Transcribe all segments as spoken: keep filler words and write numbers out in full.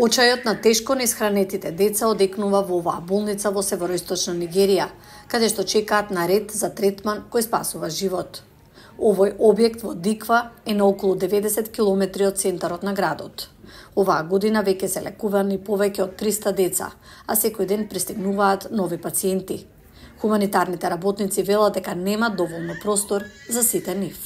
Очајот на тешко неисхранетите деца одекнува во оваа болница во североисточна Нигерија, каде што чекаат на ред за третман кој спасува живот. Овој објект во Диква е на околу деветдесет километри од центарот на градот. Оваа година веќе се лекувани повеќе од триста деца, а секој ден пристигнуваат нови пациенти. Хуманитарните работници велат дека нема доволно простор за сите нив.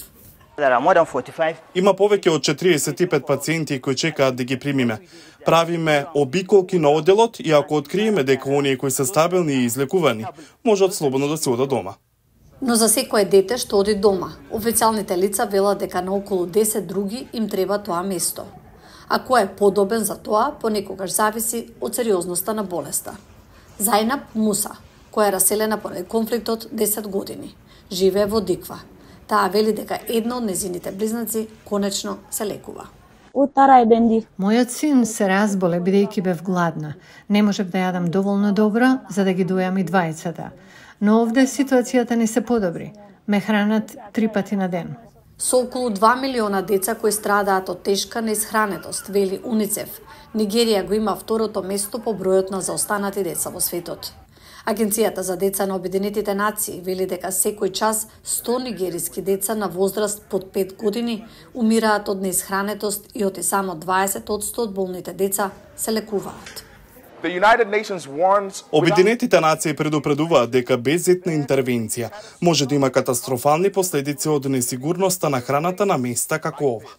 Има повеќе од четириесет и пет пациенти кои чекаат да ги примиме. Правиме обиколки на оделот и ако откриеме дека оние кои се стабилни и излекувани, можат слободно да се одат дома. Но за секое дете што оди дома, официјалните лица велат дека на околу десет други им треба тоа место. А кој е подобен за тоа, понекогаш зависи од сериозноста на болеста. Зајнаб Муса, која е раселена поради конфликтот десет години, живее во Диква. Таа вели дека една од незините близнаци конечно се лекува. Мојот син се разболе бидејќи бев гладна. Не можев да јадам доволно добро за да ги дојам и двајцата. Но овде ситуацијата не се подобри. Ме хранат три пати на ден. Со околу два милиона деца кои страдаат од тешка неисхранетост, вели Уницеф, Нигерија го има второто место по бројот на заостанати деца во светот. Агенцијата за деца на Обединетите нации вели дека секој час сто нигериски деца на возраст под пет години умираат од неисхранетост и оти само дваесет одсто од болните деца се лекуваат. Обединетите нации предупредуваат дека без етна интервенција може да има катастрофални последици од несигурноста на храната на места како ова.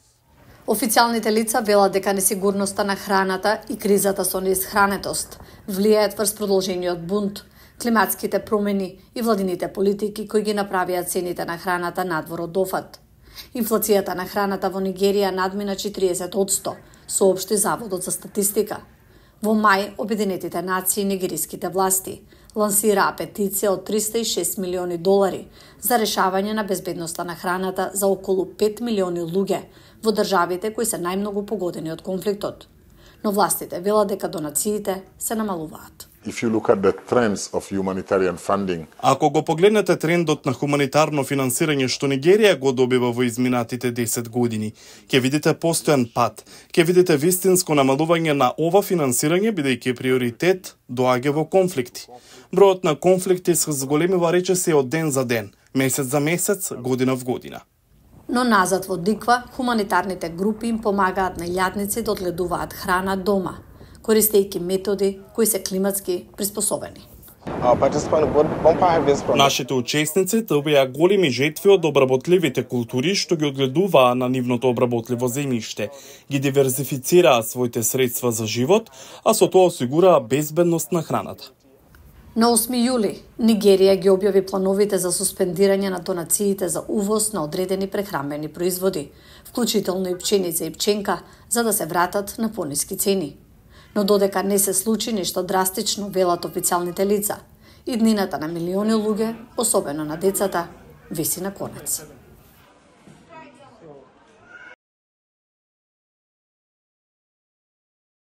Официјалните лица велат дека несигурноста на храната и кризата со неисхранетост влијаат врз продолжениот бунт, климатските промени и владините политики кои ги направија цените на храната надвор од дофат. Инфлацијата на храната во Нигерија надмина четириесет одсто, соопшти Заводот за статистика. Во мај, Обединетите нации и нигериските власти лансираа петиција од триста и шест милиони долари за решавање на безбедноста на храната за околу пет милиони луѓе во државите кои се најмногу погодени од конфликтот. Но властите велат дека донациите се намалуваат. If you look at the trends of humanitarian funding, Ако го погледнете трендот на хуманитарно финансирање што Нигерија го добива во изминатите десет години, ќе видите постојан пат, ќе видите вистинско намалување на ова финансирање бидејќи приоритет доаѓа во конфликти. Бројот на конфликти се зголемува речиси од ден за ден, месец за месец, година в година. Но назад во Диква, хуманитарните групи им помагаат на илјадници да одгледуваат храна дома, користејќи методи кои се климатски приспособени. Нашите учесници добија големи жетви од обработливите култури што ги одгледуваа на нивното обработливо земјиште, ги диверзифицираа своите средства за живот, а со тоа осигураа безбедност на храната. На осми јули, Нигерија ги објави плановите за суспендирање на донациите за увоз на одредени прехранбени производи, вклучително и пченица и пченка, за да се вратат на пониски цени. Но додека не се случи нешто драстично, велат официјалните лица, иднината на милиони луѓе, особено на децата, виси на конец.